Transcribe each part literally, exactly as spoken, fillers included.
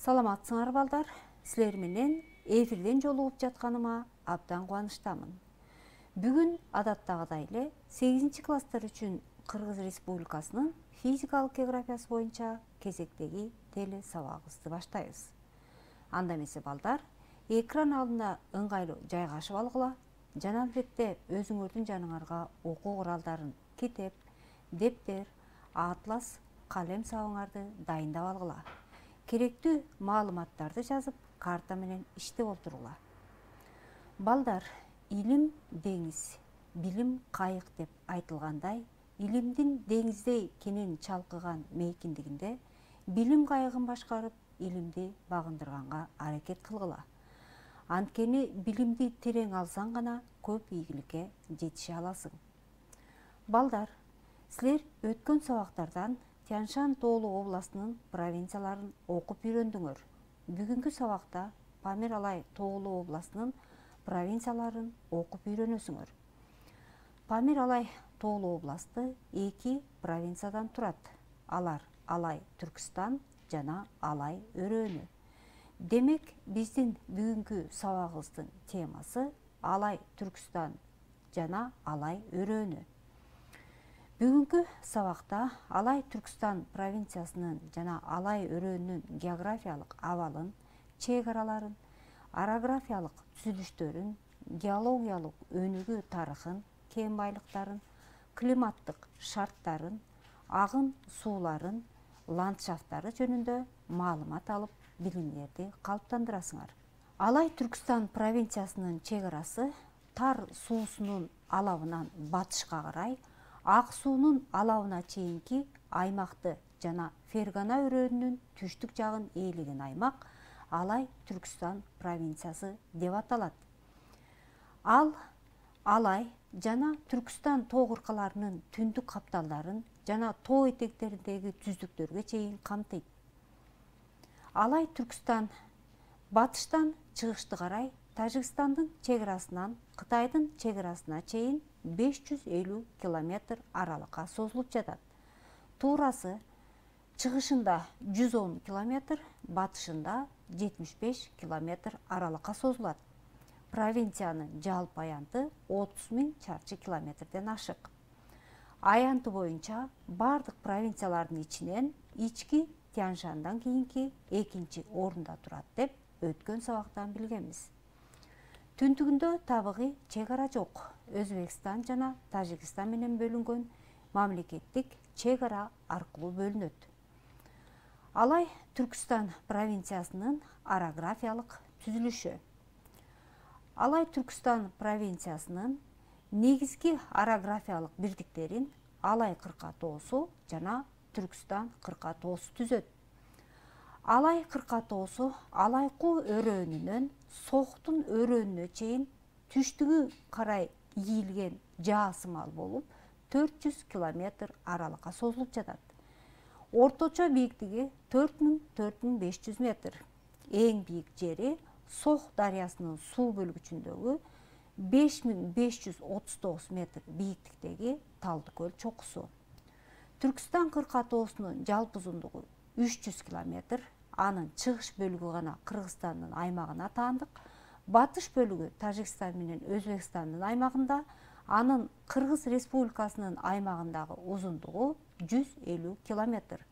Саламатсыңар балдар, силер менен эфирден жолугуп жатканыма абдан кубанычтамын. Бүгүн адаттагыдай эле сегизинчи класстар үчүн Кыргыз Республикасынын физикалык географиясы боюнча кезектеги теле сабагыбызды баштайбыз. Анда эмесе балдар, экран алдына ыңгайлуу жайгашып алгыла жана албетте өзүңөрдүн жаныңарга окуу куралдарын, китеп, дептер, атлас, калем сабыңарды дайындап алгыла. Керектүү маалыматтарды жазып, карта менен иштеп отургула. Балдар, илим деңиз, билим кайык деп айтылгандай, илимдин деңиздей кенен чалкыган мейкиндигинде билим кайыгын башкарып, илимди багындырганга аракет кылгыла. Анткени билимди терең алсаң гана көп ийгиликке жетише аласың. Балдар, силер өткөн сабактардан Тянь-Шань тоолуу областынын провинцияларын окуп үйрөндүңөр. Бүгүнкү сабакта Памир-Алай тоолуу областынын провинцияларын окуп үйрөнөсүңөр. Памир-Алай тоолуу областы эки провинциядан турат. Алар Алай Түркүстан жана Алай өрөөнү. Демек, биздин бүгүнкү сабагыбыздын темасы Алай Түркүстан жана Алай өрөөнү. Бүгүнкү сабакта Алай Түркүстан провинциясынын жана Алай өрөөнүнүн географиялык абалын, чек араларын, орографиялык түзүлүштөрүн, геологиялык өнүгүү тарыхын, кен байлыктарын, климаттык шарттарын, агын сууларын, ландшафттары жөнүндө маалымат алып, билимдерди калыптандырасыңар. Алай Түркүстан провинциясынын чек арасы Тар суусунун алабынан батышка карай, Ак суунун алабына чейинки аймакты жана Фергана өрөөнүнүн түштүк жагын ээлеген аймак Алай Түркүстан провинциясы деп аталат. Ал Алай жана Түркүстан тоо кыркаларынын түндүк капталдарын жана тоо этектериндеги түздүктөргө чейин камтыйт. Алай Түркүстан батыштан чыгышты карай Тажикстандын чек арасынан Кытайдын чек арасына чейин беш жүз элүү километр аралыкка созулуп жатат. Туурасы чыгышында жүз он километр, батышында жетимиш беш километр аралыкка созулат. Провинциянын жалпы аянты отуз миң чарчы километрден ашык. Аянты боюнча бардык провинциялардын ичинен ички Тянь-Шаньдан кийинки экинчи орунда турат деп өткөн сабактан билгенбиз. Түндүгүндө табыгый чек ара жок. Өзбекстан жана Тажикстан менен бөлүнгөн мамлекеттик чек ара аркылуу бөлүнөт. Алай Түркүстан провинциясынын орографиялык түзүлүшү. Алай Түркүстан провинциясынын негизги орографиялык бирдиктерин Алай кырка тоосу жана Түркүстан кырка тоосу түзөт. Алай кырка тоосу Алайкуу өрөөнүнөн Соктун өрөөнүнө чейин түштүгү карай ийилген жаасымал болуп, төрт жүз километр аралыкка созулуп жатат. Орточо бийиктиги төрт миң төрт миң беш жүз метр. Эң бийик жери Сох дарыясынын суу бөлгүчүндөгү беш миң беш жүз отуз тогуз метр бийиктиктеги Талдыкөл чокусу. Түркүстан кырка тоосунун жалпы узундугу үч жүз километр. Анын чыгыш бөлүгү гана Кыргызстандын аймагына таандык. Батыш бөлүгү Тажикстан менен Өзбекстандын аймагында, анын Кыргыз Республикасынын аймагындагы узундугу жүз элүү километр.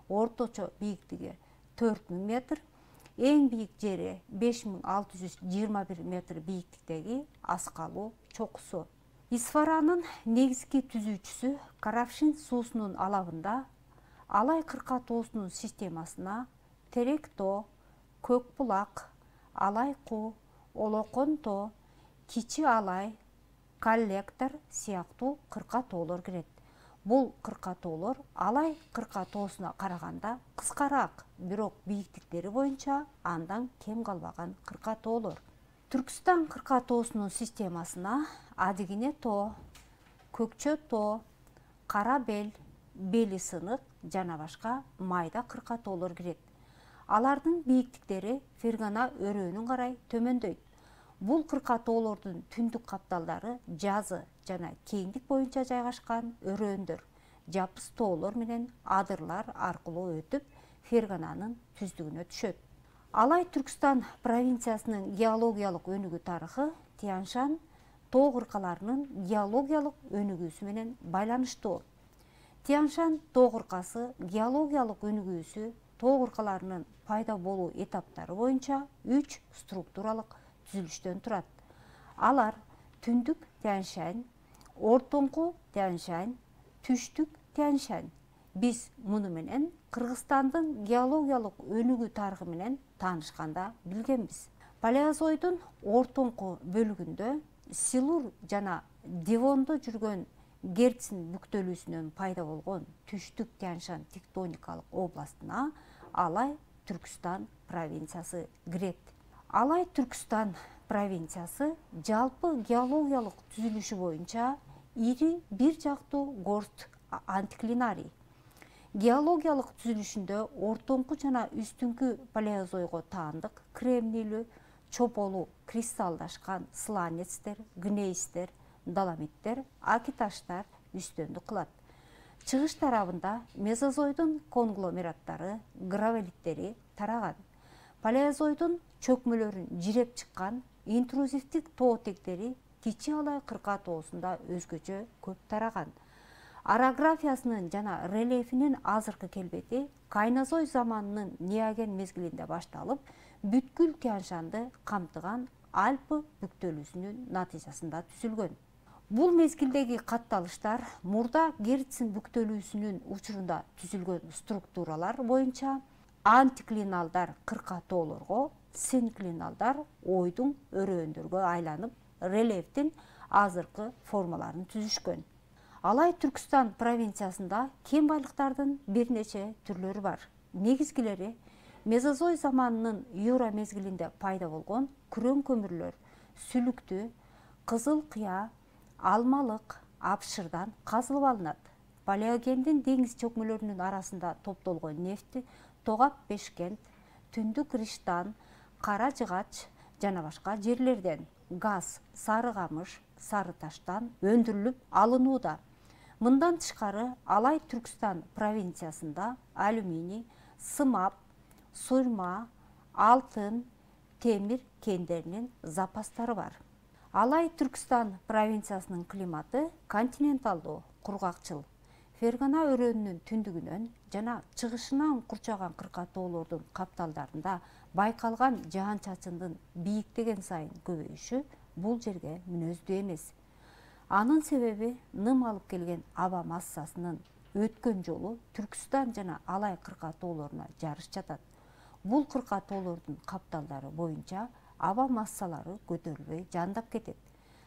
Орточо бийиктиги төрт миң метр. Эң бийик жери беш миң алты жүз жыйырма бир метр бийиктиктеги Аскалуу чокусу. Исфаранын негизги түзүүчүсү Каравшин суусунун алабында Алай кырка тоосунун системасына Терек тоо, Көк булак, Алайкуу, Олокон тоо, Кичи Алай, Коллектор сыяктуу кырка тоолор кирет. Бул кырка тоолор Алай кырка тоосуна караганда кыскараак, бирок бийиктиктери боюнча андан кем калбаган кырка тоолор. Түркүстан кырка тоосунун системасына Адыгине тоо, Көкчө тоо, Кара бел, Бели сынык жана башка майда кырка тоолор кирет. Алардын бийиктиктери Фергана өрөөнүн карай төмөндөйт. Бул кырка тоолордун түндүк капталдары жазы жана кеңдик боюнча жайгашкан өрөөндөр. Жапыс тоолор менен адырлар аркылуу өтүп, Фергананын түздүгүнө түшөт. Алай Түркстан провинциясынын геологиялык өнүгүү тарыхы Тянь-Шань тоо кыркаларынын геологиялык өнүгүүсү менен байланыштуу. Тянь-Шань тоо кыркасы геологиялык өнүгүүсү тоо кыркаларынын пайда болуу этаптары боюнча үч структуралык түзүлүштөн турат. Алар түндүк Тянь-Шань, ортоңку Тянь-Шань, түштүк Тянь-Шань. Биз муну менен Кыргызстандын геологиялык өнүгүү тарыхы менен таанышканда билгенбиз. Палеозойдун ортоңку бөлүгүндө Силур жана Девондо жүргөн Герцин бүктөлүүсүнөн пайда болгон түштүк Тянь-Шань тектоникалык областына Алай Түркстан провинциясы кирет. Алай Түркстан провинциясы жалпы геологиялык түзүлүшү боюнча ири бир жактуу горст антиклинарий. Геологиялык түзүлүшүндө ортоңку жана үстүңкү палеозойго таандык кремнийлүү, чополу кристалдашкан сланецтер, гнейстер, доломиттер, акиташтар үстөмдүк кылат. Чыгыш тарабында мезозойдун конгломераттары, гравелиттери тараган. Палеозойдун чөкмөлөрүн жиреп чыккан интрузивдик тоотектери Кичи Алай кырка тоосунда өзгөчө көп тараган. Орографиясынын жана рельефинин азыркы келбети Кайнозой заманынын Неоген мезгилинде башталып, бүткүл Тянь-Шаньды камтыган Альпы бүктөлүүсүнүн натыйжасында түзүлгөн. Бул мезгилдеги катталыштар мурда Герцин бүктөлүүсүнүн учурунда түзүлгөн структуралар боюнча антиклиналдар кырка тоолорго, синклиналдар ойдуң өрөөндөргө айланып, рельефтин азыркы формаларын түзүшкөн. Алай Түркстан провинциясында кен байлыктардын бир нече түрлөрү бар. Негизгилери Мезозой заманынын Юра мезгилинде пайда болгон күрөң көмүрлөр, сүлүктүү, кызыл кыя, алмалык, апшырдан казылып алынат. Палеогендин деңиз чөкмөлөрүнүн арасында топтолгон нефти Тогап Бешкент, Түндүк Риштан, Кара Жыгач жана башка жерлерден, газ Сары Камыш, Сары Таштан өндүрүлүп алынууда. Мындан тышкары Алай Түркстан провинциясында алюминий, сымап, суйрма, алтын, темир кендеринин запастары бар. Алай Түркстан провинциясынын климаты континенталдуу, кургакчыл. Фергана өрөөнүнүн түндүгүнөн жана чыгышынан курчаган кырка тоолордун капталдарында байкалган жаан-чачындын бийиктеген сайын көбөйүшү бул жерге мүнөздүү эмес. Анын себеби ным алып келген аба массасынын өткөн жолу Түркстан жана Алай кырка тоолоруна жарыш жатат. Бул кырка тоолордун капталдары боюнча аба массалары көтөрүлбөй жаандап кетет.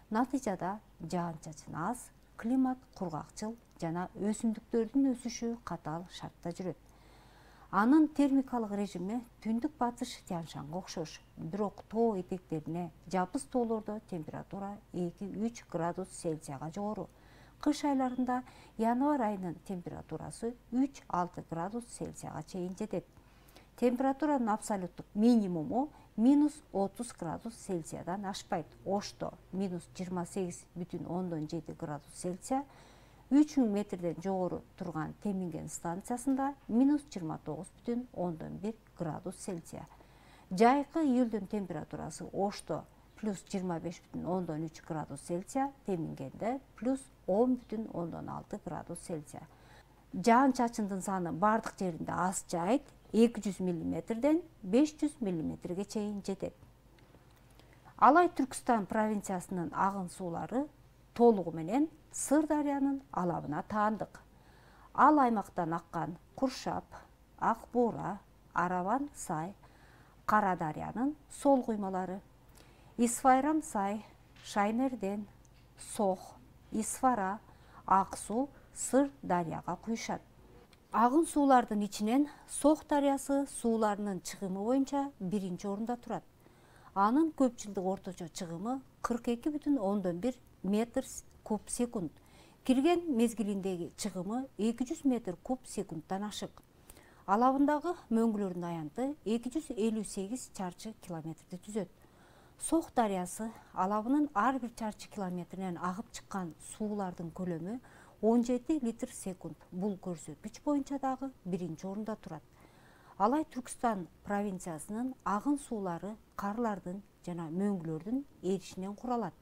Натыйжада жаан-чачын аз, климат кургакчыл жана өсүмдүктөрдүн өсүшү катаал шартта жүрөт. Анын термикалык режими түндүк батыш Тянь-Шаньга окшош, бирок тоо этектерине жапыс тоолордо температура эки-үч градус Цельсияга жогору. Кыш айларында январь айынын температурасы үч-алты градус Цельсияга чейин жетет. Температуранын абсолюттук минимуму минус отуз градус Цельсиядан ашпайт. Ошто минус жыйырма сегиз бүтүн ондон жети градус Цельсия, үч миң метрден жогору турган Теминген станциясында минус жыйырма тогуз бүтүн ондон бир градус Цельсия. Жайкы июлдун температурасы Ошто плюс жыйырма беш бүтүн ондон үч градус Цельсия, Темингенде плюс он бүтүн ондон алты градус Цельсия. Жаан-чачындын саны бардык жеринде аз жайыт эки жүз миллиметрден беш жүз миллиметрге чейин жетет. Алай Түркстан провинциясынын агын суулары толугу менен Сыр дарыянын алабына таандык. Ал аймактан аккан Куршап, Ак Буура, Араван Сай, Кара дарыянын сол куймалары. Исфайрам Сай, Шаймерден, Сох, Исфара, Ак Суу Сыр дарыяга куюшат. Агын суулардын ичинен Сох дарыясы сууларынын чыгымы боюнча биринчи орунда турат. Анын көп жылдык орточо чыгымы кырк эки бүтүн ондон бир метр куб секунд. Кирген мезгилиндеги чыгымы эки жүз метр куб секундтан ашык. Алабындагы мөңгүлөрдүн аянты эки жүз элүү сегиз чарчы километрди түзөт. Сох дарыясы алабынын ар бир чарчы километринен агып чыккан суулардын көлөмү он жети литр секунд. Бул көрсөткүч боюнча дагы биринчи орунда турат. Алай Түркістан провинциясынын агын суулары карлардын жана мөңгүлөрдүн эришинен куралат.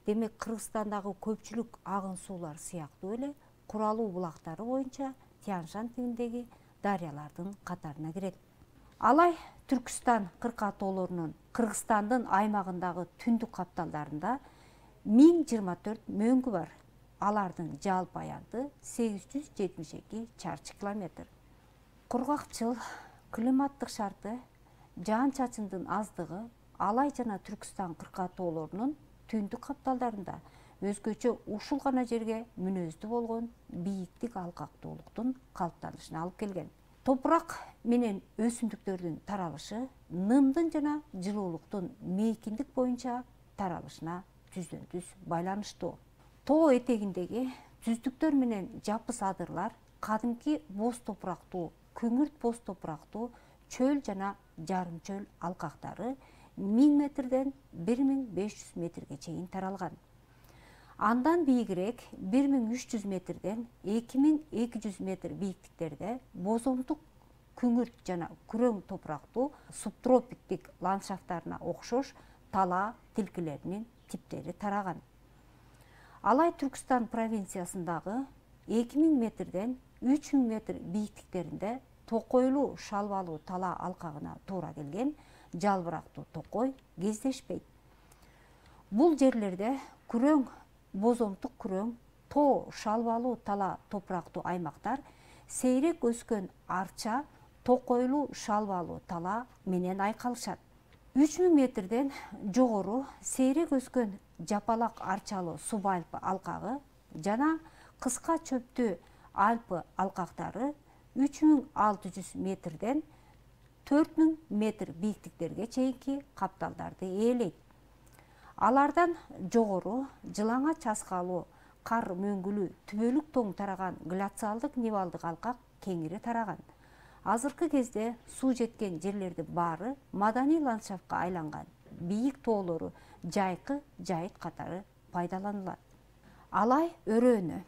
Демек Кыргызстандагы көпчүлүк агын суулар сыяктуу эле куралуу булактары боюнча Тянь-Шань түбүндөгү дарыялардын катарына кирет. Алай Түркістан кыркатоолорунун Кыргызстандын аймагындагы түндүк капталдарында миң жыйырма төрт мөңгү бар. Алардын жалпы аянты сегиз жүз жетимиш эки чарчы километр. Кургакчыл климаттык шарты, жаан-чачындын аздыгы Алай жана Түркістан кыркатоолорунун түндүк капталдарында өзгөчө ушул гана жерге мүнөздүү болгон бийиктик алкактуулуктун калыптанышына алып келген. Топурак менен өсүмдүктөрдүн таралышы нымдын жана жылуулуктун мейкиндик боюнча таралышына түздөн түз байланыштуу. Тоо этегиндеги түздүктөр менен жапыс адырлар кадимки боз топурактуу, күңүрт боз топурактуу чөл жана жарым чөл алкактары миң метрден бир миң беш жүз метрге чейин таралган. Андан бийигирээк бир миң үч жүз метрден эки миң эки жүз метр бийиктиктерде бозомдук күңүрт жана күрөң топурактуу субтропиктик ландшафттарына окшош тала тилкелеринин типтери тараган. Алай Түркістан провинциясындагы эки миң метрден үч миң метр бийиктиктеринде токойлуу шалбалуу тала алкагына туура келген жалбырактуу токой кездешпейт. Бул жерлерде күрөң, бозомдук күрөң, тоо шалбалуу тала топурактуу аймактар сейрек өскөн арча, токойлуу шалбалуу тала менен айкалышат. үч миң метрден жогору сейрек өскөн жапалак арчалуу субальпы алкагы жана кыска чөптүү альпы алкактары үч миң алты жүз метрден төрт миң метр бийиктиктерге чейинки капталдарды ээлейт. Алардан жогору жылаңа часкалуу кар мөңгүлүү түбөлүк тоң тараган гляциалдык нивалдык алкак кеңири тараган. Азыркы кезде суу жеткен жерлердин баары маданий ландшафтка айланган. Бийик тоолору жайкы жайыт катары пайдаланылат. Алай өрөөнү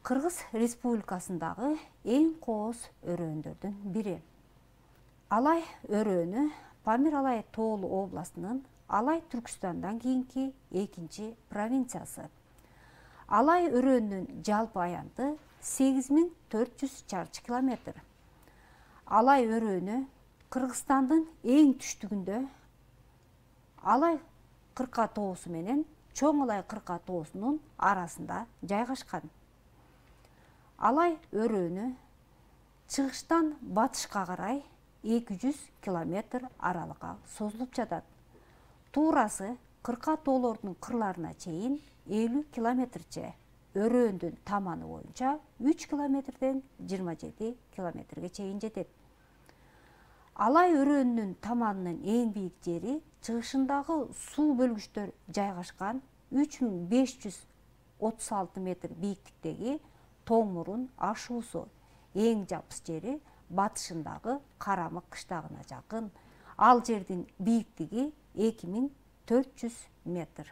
Кыргыз Республикасындагы эң кооз өрөөндөрдүн бири. Алай өрөөнү Памир-Алай тоолуу областынын Алай Түркістандан кийинки экинчи провинциясы. Алай өрөөнүнүн жалпы аянты сегиз миң төрт жүз чарчы километр. Алай өрөөнү Кыргызстандын эң түштүгүндө Алай кыркатоосу менен Чоң Алай кыркатоосунун арасында жайгашкан. Алай өрөөнү чыгыштан батышка карай эки жүз километр аралыкка созулуп жатат. Туурасы кыркатоолордун кырларына чейин элүү километрче, өрөөндүн таманы боюнча үч километрден жыйырма жети километрге чейин жетет. Алай өрөөнүнүн таманынын эң бийик жери чыгышындагы суу бөлгүчтөр жайгашкан үч миң беш жүз отуз алты метр бийиктиктеги Тоң Мурун ашуусу. Эң жапыс жери батышындагы Карамык кыштагына жакын. Ал жердин бийиктиги эки миң төрт жүз метр.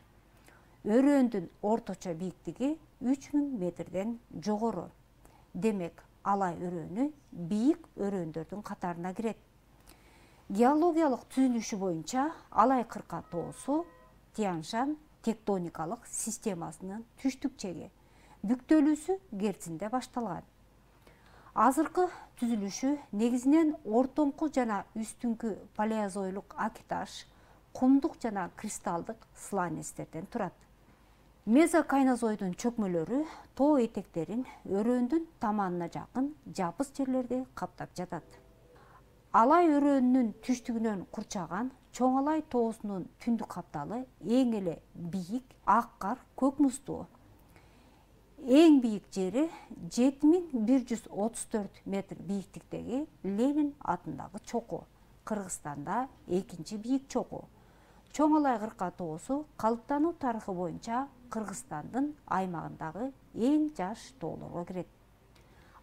Өрөөндүн орточо бийиктиги үч миң метрден жогору. Демек, Алай өрөөнү бийик өрөөндөрдүн катарына кирет. Геологиялык түзүлүшү боюнча Алай кыркатоосу Тянь-Шань тектоникалык системасынын түштүк чеги, бүктөлүүсү Герцинде башталган. Азыркы түзүлүшү негизинен ортоңку жана үстүңкү палеозойлук акиташ, кумдук жана кристалдык сланецтерден турат. Мезокайнозойдун чөкмөлөрү тоо этектерин өрөөндүн таманына жакын жапыс жерлерди каптап жатат. Алай өрөөнүнүн түштүгүнөн курчаган Чоң Алай тоосунун түндүк капталы эң эле бийик ак кар көк муздуу. Эң бийик жери жети миң бир жүз отуз төрт метр бийиктиктеги Ленин атындагы чоку. Кыргызстанда экинчи бийик чоку. Чоң Алай кыркатоосу калыптануу тарыхы боюнча Кыргызстандын аймагындагы эң жаш тоолорго кирет.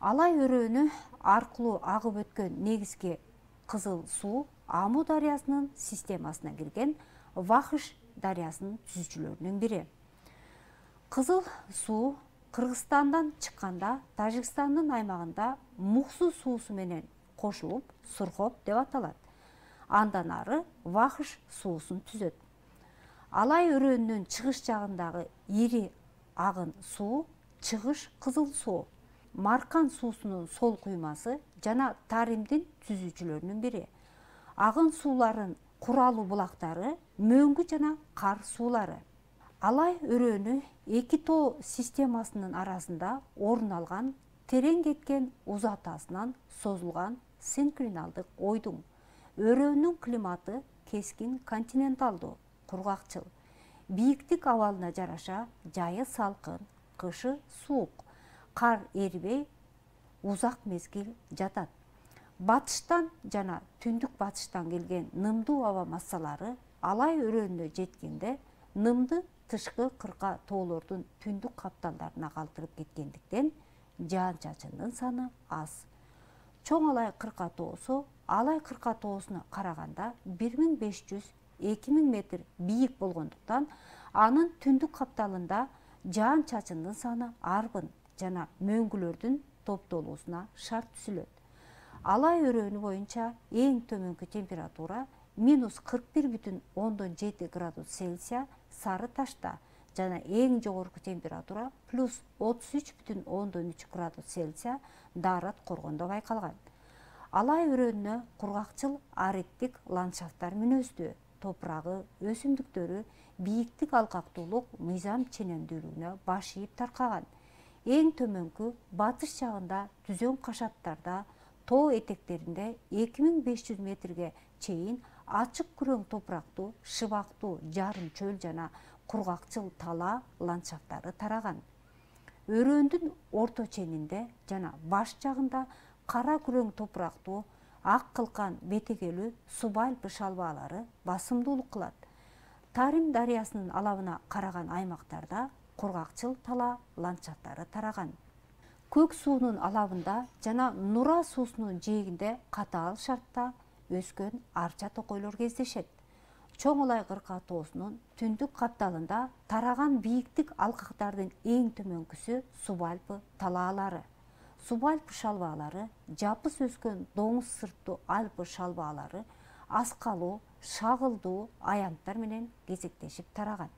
Алай өрөөнү аркылуу агып өткөн негизги кызыл суу Аму дарыясынын системасына кирген Вахыш дарыясынын түзүүчүлөрүнүн бири. Кызыл суу Кыргызстандан чыкканда Тажикстандын аймагында Муксу суусу менен кошулуп Сурхоп деп аталат. Андан ары Вахыш суусун түзөт. Алай өрөөнүнүн чыгыш жагындагы ири агын суу Чыгыш Кызыл суу. Маркан суусунун сол куймасы жана Таримдин түзүүчүлөрүнүн бири. Агын сууларын куралуу булактары Мөңгү жана Кар суулары. Алай өрөөнү эки тоо системасынын арасында орун алган терең кеткен узатасынан созулган синклиналдык ойдуң. Өрөөнүн климаты кескин континенталдуу, кургакчыл. Бийиктик абалына жараша жайы салкын, кышы суук. Кар эрибей узак мезгил жатат. Батыштан жана түндүк батыштан келген нымдуу аба массалары Алай өрөөнүнө жеткенде нымды тышкы кырка тоолордун түндүк капталдарына калтырып кеткендиктен жаан-чачындын саны аз. Чоң Алай кырка тоосу Алай кырка тоосуна караганда бир миң беш жүз — эки миң метр бийик болгондуктан анын түндүк капталында жаан-чачындын саны арбын жана мөңгүлөрдүн топтолуусуна шарт түзүлөт. Алай өрөөнү боюнча эң төмөнкү температура минус кырк бир бүтүн ондон жети градус Цельсия Сары Ташта жана эң жогорку температура плюс отуз үч бүтүн ондон үч градус Цельсия Даарат коргондо байкалган. Алай өрөөнүнө кургакчыл ариттик ландшафттар мүнөздүү. Топурагы, өсүмдүктөрү бийиктик алкактуулук мыйзам ченемдүүлүгүнө баш ийип таркаган. Эң төмөнкү батыш жагында түзөң кашаттарда, тоо этектеринде эки миң беш жүз метрге чейин ачык күрөң топурактуу, шыбактуу жарым чөл жана кургакчыл тала ландшафттары тараган. Өрөөндүн орто ченинде жана баш жагында кара күрөң топурактуу, ак кылкан бетегелүү субальпы шалбаалары басымдуулук кылат. Тарим дарыясынын алабына караган аймактарда кургакчыл тала ландшафттары тараган. Көк суунун алабында жана Нура суусунун жээгинде катаал шартта өскөн арча токойлор кездешет. Чоң Алай кырка тоосунун түндүк капталында тараган бийиктик алкактардын эң төмөнкүсү субальпы талаалары. Субальпы шалбаалары жапыс өскөн доңуз сырттуу Альпы шалбаалары аскалуу, шагылдуу аянттар менен кезектешип тараган.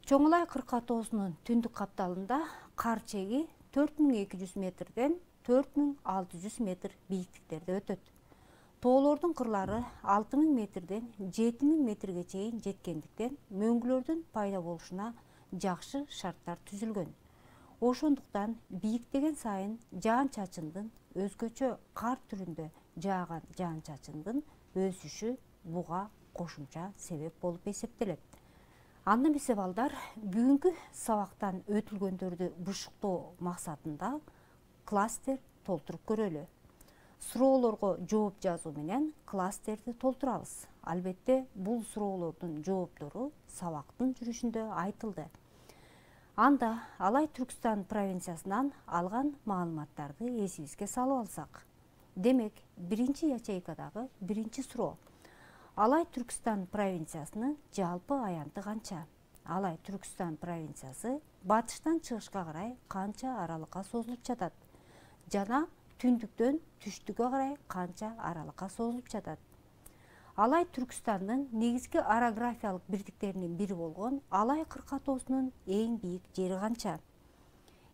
Чоң Алай кырка тоосунун түндүк капталында кар чеги төрт миң эки жүз метрден төрт миң алты жүз метр бийиктиктерде өтөт. Тоолордун кырлары алты миң метрден жети миң метрге чейин жеткендиктен мөңгүлөрдүн пайда болушуна жакшы шарттар түзүлгөн. Ошондуктан бийиктеген сайын жаан-чачындын өзгөчө кар түрүндө жааган жаан-чачындын өсүшү буга кошумча себеп болуп эсептелет. Анда эмесе балдар, бүгүнкү сабактан өтүлгөндөрдү бушуктоо максатында кластер толтуруп көрөлү. Суроолорго жооп жазуу менен кластерди толтурабыз. Албетте, бул суроолордун жооптору сабактын жүрүшүндө айтылды. Анда Алай Түркстан провинциясынан алган маалыматтарды эсибизге салып алсак. Демек, биринчи ячейкадагы биринчи суроо. Алай Түркстан провинциясынын жалпы аянты канча? Алай Түркстан провинциясы батыштан чыгышка карай канча аралыкка созулуп жатат? Жана түндүктөн түштүккө карай канча аралыкка созулуп жатат? Алай Түркстандын негизги орографиялык бирдиктеринин бири болгон Алай кырка тоосунун эң бийик жери канча?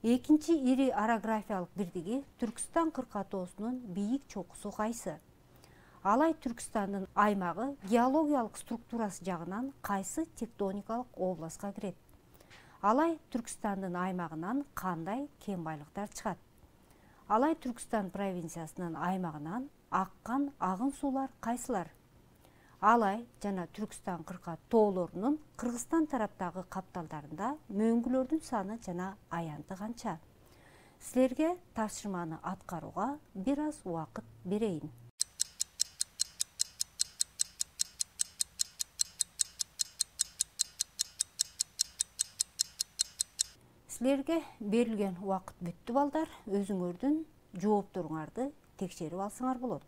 Экинчи ири орографиялык бирдиги Түркстан кырка тоосунун бийик чокусу кайсы? Алай Түркстандын аймагы геологиялык структурасы жагынан кайсы тектоникалык областка кирет? Алай Түркстандын аймагынан кандай кен байлыктар чыгат? Алай Түркстан провинциясынын аймагынан аккан агын суулар кайсылар? Алай жана Түркстан кырка тоолорунун Кыргызстан тараптагы капталдарында мөңгүлөрдүн саны жана аянты канча? Силерге тапшырманы аткарууга бир аз убакыт берейин. Силерге берилген убакыт бүттү балдар, өзүңөрдүн жоопторуңарды текшерип алсаңар болот.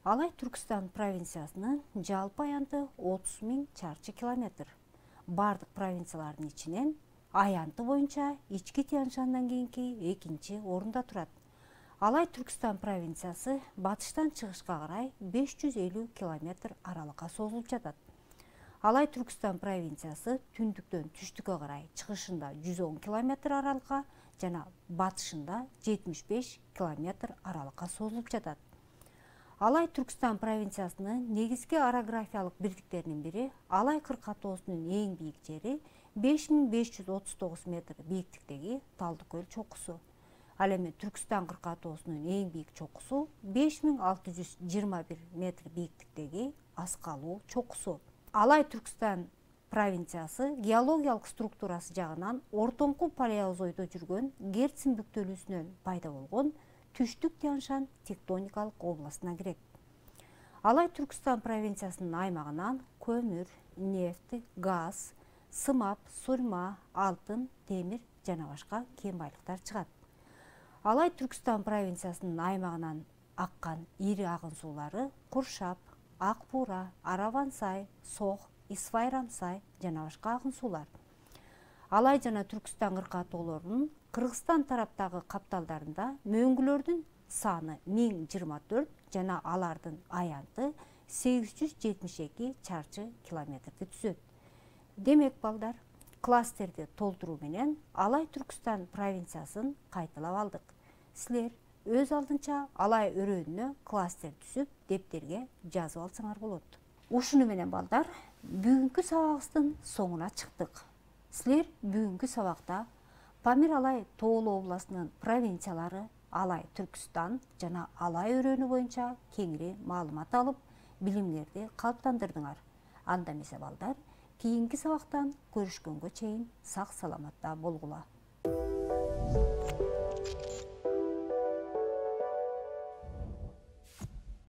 Алай Түркстан провинциясынын жалпы аянты отуз миң чарчы километр. Бардык провинциялардын ичинен аянты боюнча Ички Тянь Шандан кийинки экинчи орунда турат. Алай Түркістан провинциясы батыштан чыгышка карай беш жүз элүү километр аралыкка созулуп жатат. Алай Түркістан провинциясы түндүктөн түштүккө карай чыгышында жүз он километр аралыкка жана батышында жетимиш беш километр аралыкка созулуп жатат. Алай Түркістан провинциясынын негизги орографиялык бирдиктеринин бири Алай кыркатоосунун эң бийик жери беш миң беш жүз отуз тогуз метр бийиктиктеги Талдыкөл көл чокусу. Ал эми Түркістан кыркатоосунун эң бийик чокусу беш миң алты жүз жыйырма бир метр бийиктиктеги Аскалуу чокусу. Алай Түркістан провинциясы геологиялык структурасы жагынан ортоңку палеозойдо жүргөн Герцин бүктөлүүсүнөн пайда болгон түштүк Тянь-Шань тектоникалык областына кирет. Алай Түркістан провинциясынын аймагынан көмүр, нефть, газ, сымап, сурма, алтын, темир жана башка кен байлыктар чыгат. Алай Түркістан провинциясынын аймагынан аккан ири агын суулары Куршап, Ак Буура, Араван-Сай, Сох, Исфайрам-Сай жана башка агын суулар. Алай жана Түркістан кыркатоолорунун Кыргызстан тараптагы капталдарында мөңгүлөрдүн саны миң жыйырма төрт жана алардын аянты сегиз жүз жетимиш эки чарчы километрди түзөт. Демек балдар, кластерди толтуруу менен Алай Түркістан провинциясын кайталап алдык. Силер өз алдынча Алай өрөөнүнө кластер түзүп, дептерге жазып алсаңар болот. Ушуну менен балдар, бүгүнкү сабагыбыздын соңуна чыктык. Силер бүгүнкү сабакта Памир Алай тоолуу областынын провинциялары Алай Түркістан жана Алай өрөөнү боюнча кеңири маалымат алып, билимиңерди калыптандырдыңар. Анда эмесе балдар, кийинки сабактан көрүшкөнгө чейин сак саламатта болгула.